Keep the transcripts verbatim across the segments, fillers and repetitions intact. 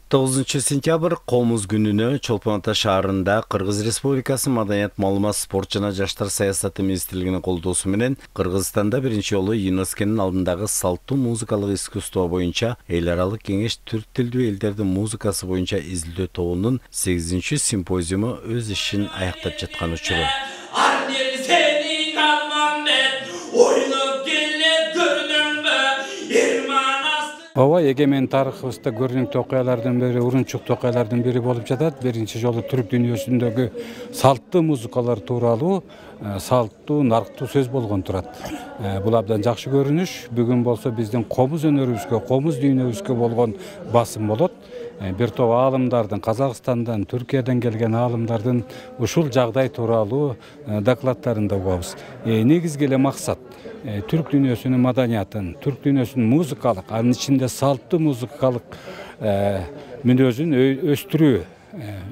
тогузунчу сентябрь Комуз күнүнө Чолпон Ата шаарында Кыргыз Республикасы Маданият, маалымат, спорт жана жаштар саясаты министрлигинин колдоосу менен Кыргызстанда биринчи жолу ЮНЕСКОнун алдындагы салттуу музыкалык искусство боюнча эл аралык кеңеш түрк тилдүү элдердин музыкасы боюнча изилдөө тобунун сегизинчи симпозиуму өз ишин аяктап жаткан учуру. Ооба, эгемен тарыхыбызда көрүнүктүү окуялардын бири, урунчуктуу окуялардын бири болуп жатат. Биринчи жолу түрк дүйнөсүндөгү салттуу музыкалар тууралуу салттуу, нарктуу сөз болгон турат. Бул абдан жакшы көрүнүш. Бүгүн болсо биздин комуз өнөрүбүзгө, комуз дүйнөбүзгө болгон басым болот. Бир топ аалымдардын, Казакстандан, Түркияден келген аалымдардын ушул жагдай тууралуу докладдарын да угабыз. Негизги эле максат түрк дүйнөсүнүн маданиятын, түрк дүйнөсүнүн музыкалык, анын ичинде салттуу музыкалык мүнөзүн өстүрүү,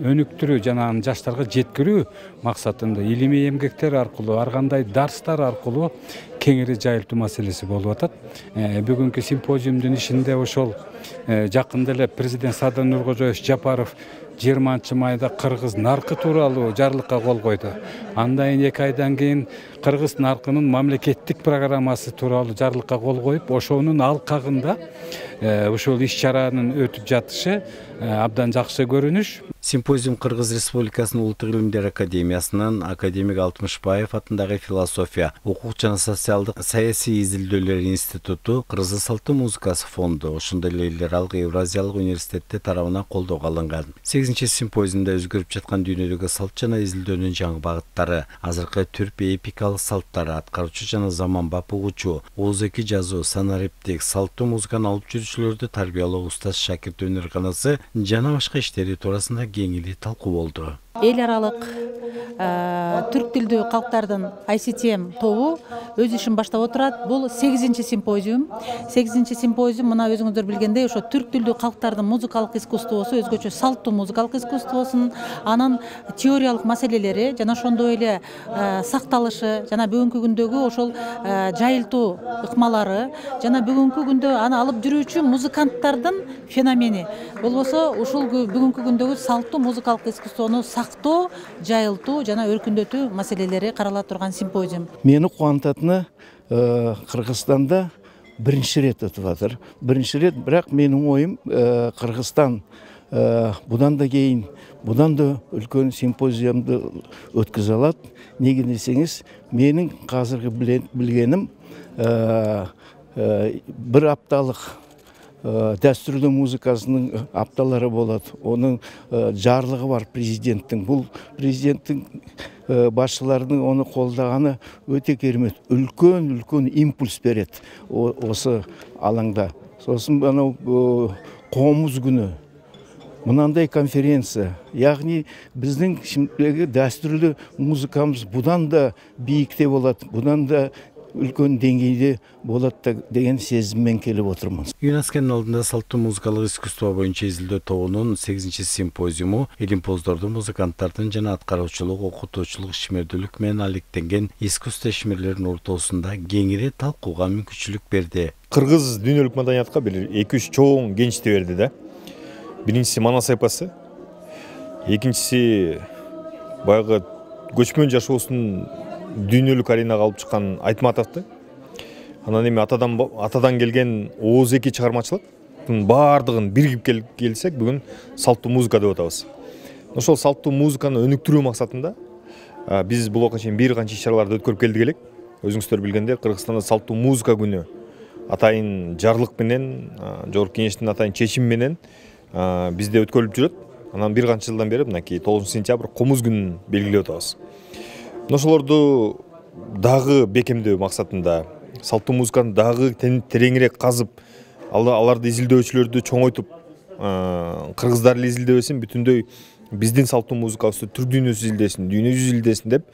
өнүктүрүү жана аны жаштарга жеткирүү максатында илимий эмгектер аркылуу, ар кандай дарстар аркылуу кеңири жайылтуу маселеси болуп атат. Бүгүнкү симпозиумдун ишинде ошол жакында эле президент Садыр Нуркожоевич Жапаров жыйырманчы майда кыргыз наркы тууралуу жарлыкка кол койду. Андан кийин эки айдан кийин кыргыз наркынын мамлекеттик программасы тууралуу жарлыкка кол коюп, ошонун алкагында ушул иш-чаранын өтүп жатышы абдан жакшы көрүнүш. Симпозиум Кыргыз Республикасынын Улуттук илимдер академиясынын академик Алтымышбаев атындагы философия, укук жана социалдык саясий изилдөөлөр институту, Кыргыз салттуу музыкасы фонду, ошондой эле эл аралык Евразиялык университети тарабынан колдоого алынган. сегизинчи симпозиумда өзгөрүп жаткан дүйнөдөгү салт жана изилдөөнүн жаңы багыттары, азыркы түрк эпикалык салттары, аткаруучу жана заманбап угуучу, оозеки жазуу, санариптик, салттуу музыканы алып жүрүүчүлөрдү тарбиялоо устаз шакирт өнөрканасы жана башка иштери туурасында кеңири талкуу болду. Эл аралык түрк тилдүү калктардын ай си ти эм тобу өз ишин баштап отурат. Бул сегизинчи симпозиум. сегизинчи симпозиум мына өзүңүздөр билгендей ошо түрк тилдүү калктардын музыкалык искусствосу, өзгөчө салттуу музыкалык искусствосунун анын теориялык маселелери жана ошондой эле сакталышы жана бүгүнкү күндөгү ошол жайылтуу ыкмалары жана бүгүнкү күндө аны алып жүрүүчү музыканттардын феномени. Болбосо ушул бүгүнкү күндөгү салттуу музыкалык искусствону сактоо, жайылтуу жана өркүндөтүү маселелери карала турган симпозиум. Мени кубантатыны Кыргызстанда биринчи рет өтүп атыр. Биринчи рет, бирок менин оюм Кыргызстан будан да кийин, будан да үлкөн симпозиумду өткөзө алат. Неге десеңиз, менин азыркы билгеним бир апталык дәстүрлүү музыкасынын апталары болот. Онун жарлыгы бар президенттин. Бул президенттин башчыларынын ону колдоганы өтө керемет. Үлкөн үлкөн импульс берет осы алаңда. Сосын анау Комуз күнү мынандай конференция, яғни биздин şimdiki дәстүрлүү музыкамыз будан да бийикте болот, будан да үлкөн деңгейде болот деген сезиммен келип отурмун. ЮНЕСКонун алдында салттуу музыкалык искусство боюнча изилдөө тобунун сегизинчи симпозиуму илимпоздордун, музыканттардын жана аткаруучулук, окутуучулук ишмердүүлүк менен алектенген искусство ишмерлеринин ортосунда кеңири талкууга мүмкүнчүлүк берди. Кыргыз дүйнөлүк маданиятка бир эки үч чоң кеңишти берди да. Биринчиси Манас эпосы, экинчиси баягы көчмөн жашоосун дүйнөлүк аренага алып чыккан Айтматовду. Анан эми атадан атадан келген оозеки чыгармачылыктын баардыгын биригип келсек, бүгүн салттуу музыка деп атабыз. Ошол салттуу музыканы өнүктүрүү максатында биз булга чейин бир канча иш-чараларды өткөрүп келдик элек. Өзүңүздөр билгендей, Кыргызстанда салттуу музыка күнү атайын жарлык менен, жогорку кеңештин атайын чечими менен бизде өткөрүлүп жүрөт. Анан бир канча жылдан бери мынакей тогузунчу сентябрь Комуз күнүн белгилеп атабыз. Ошолорду дагы бекемдөө максатында, салттуу музыканы дагы тереңирээк казып, аларды изилдөөчүлөрдү чоңойтуп, кыргыздар эле изилдебесин, бүтүндөй биздин салттуу музыкабызды түрк дүйнөсү изилдесин, дүйнө жүзү изилдесин деп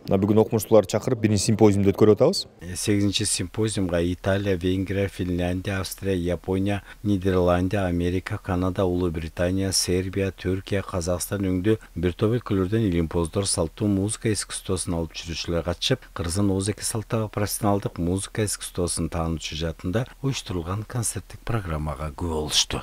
мына бүгүн окумуштууларды чакырып биринчи симпозиумду өткөрүп атабыз. сегизинчи симпозиумга Италия, Венгрия, Финляндия, Австрия, Япония, Нидерландия, Америка, Канада, Улуу Британия, Сербия, Түркия, Казакстан өңдүү бир топ өлкөлөрдөн илимпоздор, салттуу музыка искусствосун алып жүрүүчүлөр катышып, Кыргыздын ооз-эки салттагы профессионалдык музыка искусствосун таануучу жаатында уюштурулган концерттик программага күбө болушту.